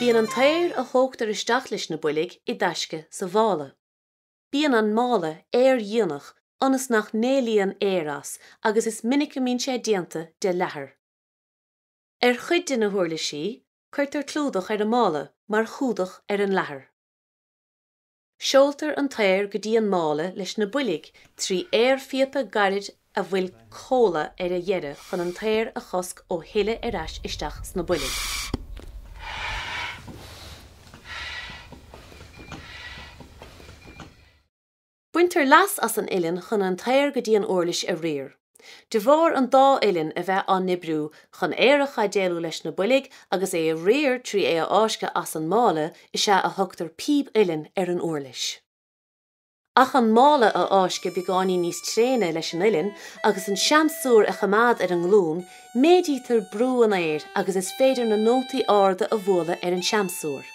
Bíonn an t-aer a thógtar isteach leis na boilg i dtaisce sa mhála. Bíonn an mála aerdhíonach ionas nach n-éalaíonn aer as agus is minic go mbíonn sé déanta de leathar. Ar chuid de na huirlisí, cuirtear clúdach ar an mála mar chumhdach ar an leathar. Seoltar an t-aer go dtí an mála leis na boilg trí aerphíopa gairid a bhfuil comhla ar a dheireadh chun an t-aer a chosc ó shileadh ar ais isteach sna boilg. Baintear leas as an uillinn chun an t-aer go dtí an uirlis a riar. De bharr an dá uillinn a bheith á n-oibriú chun aer a chaidéalú leis na boilg agus é a riar trí é a fháisceadh as an mála is ea a thugtar píb uilleann ar an uirlis. Ach an mála a fháisceadh beagáinín níos tréine leis an uillinn agus an seamsúr a choimeád ar an nglún, méadaítear brú an aeir agus is féidir na nótaí arda a bhualadh ar an seamsúr.